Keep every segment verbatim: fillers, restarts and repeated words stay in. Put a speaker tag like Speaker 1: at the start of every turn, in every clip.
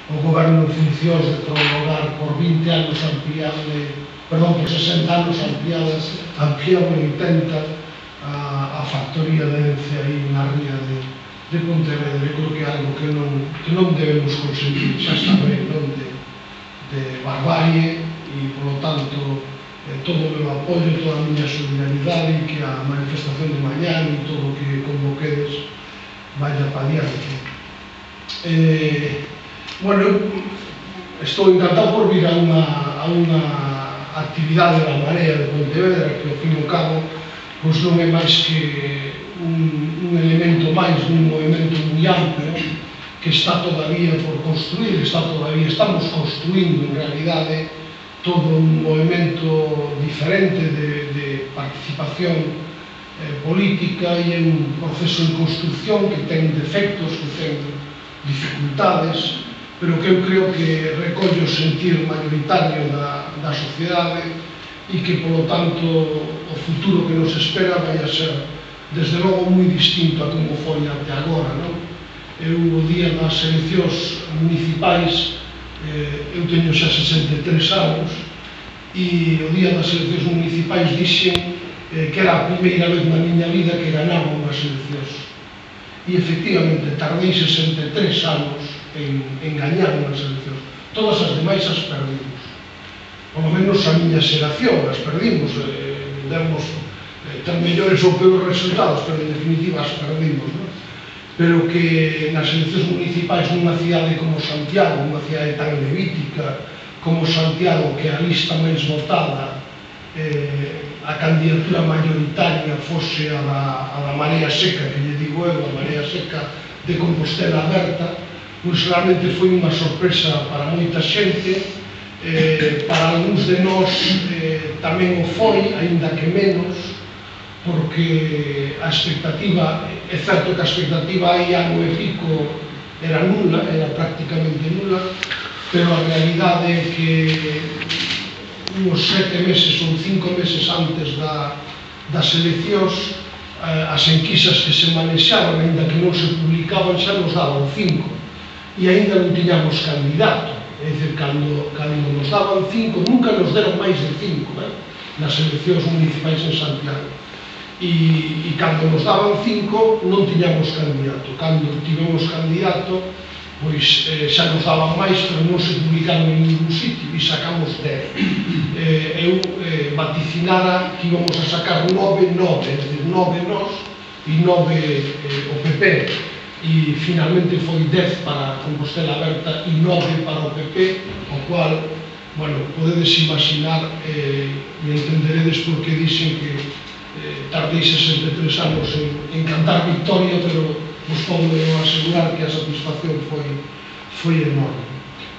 Speaker 1: o goberno en funcións de prolongar por vinte anos ampliable, perdón, por sesenta anos ampliable, ampliable oitenta a, a factoría de Ence aí na ría de, de Pontevedra. Eu creo que é algo que non, que non debemos conseguir, xa está ben, non de, de barbarie, e, polo tanto, eh, todo o meu apoio, toda a miña solidaridade, e que a manifestación de mañá e todo o que convoquedes vaya para diante. Eh, bueno, eu estou encantado por vir a unha, a unha actividade da Marea de Pontevedra, que ao fin e ao cabo pois non é máis que un, un elemento máis dun movimento moi amplio que está todavía por construir, está todavía, estamos construindo en realidade todo un movimento diferente de, de participación eh, política, e é un proceso en construcción que ten defectos, que ten dificultades, pero que eu creo que recolle o sentir mayoritario da, da sociedade, e que, polo tanto, o futuro que nos espera vai a ser, desde logo, moi distinto a como foi até agora, non? Eu, o día das eleccións municipais, eh, eu teño xa sesenta e tres anos, e o día das eleccións municipais dixen eh, que era a primeira vez na miña vida que ganaba unhas eleccións. E, efectivamente, tardei sesenta e tres anos en, en gañar unhas eleccións. Todas as demais as perdimos. Por lo menos a miña xeración as perdimos. Eh, demos eh, ter mellores ou peores resultados, pero en definitiva as perdimos, non? Pero que nas eleccións municipais nunha cidade como Santiago, unha cidade tan levítica como Santiago, que a lista máis votada, eh, a candidatura mayoritaria fose a da, a da Marea Seca, que lle digo eu, a Marea Seca de Compostela Aberta, pois realmente foi unha sorpresa para moita xente, eh, para algúns de nós eh, tamén o foi, aínda que menos, porque a expectativa, é certo que a expectativa aí ano e pico era nula, era prácticamente nula, pero a realidade é que uns sete meses ou cinco meses antes da, das eleccións, as enquisas que se manexaban, aínda que non se publicaban, xa nos daban cinco, e aínda non tiñamos candidato. É dicir, cando, cando nos daban cinco, nunca nos deron máis de cinco, eh? Nas eleccións municipais en Santiago. E, e cando nos daban cinco, non tiñamos candidato. Cando tivemos candidato, pois eh, xa nos daban máis, pero non se publicaron en ningún sitio, e sacamos dez. Eh, eu eh, vaticinara que íbamos a sacar nove, nove, é dicir, nove nós e nove eh, o P P, e finalmente foi dez para Compostela Aberta e nove para o P P, o cual, bueno, podedes imaginar eh, e entenderedes por que dixen que eh, tardei sesenta e tres anos en, en cantar victoria, pero vos podo asegurar que a satisfacción foi, foi enorme.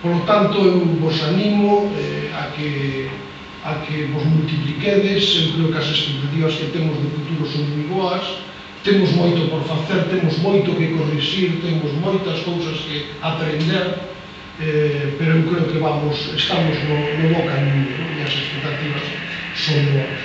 Speaker 1: Por lo tanto, eu vos animo eh, a, que, a que vos multipliquedes. Eu creo que as expectativas que temos de futuro son moi boas, temos moito por facer, temos moito que corrixir, temos moitas cousas que aprender, eh, pero eu creo que vamos, estamos no, no bo camiño, e as expectativas son boas.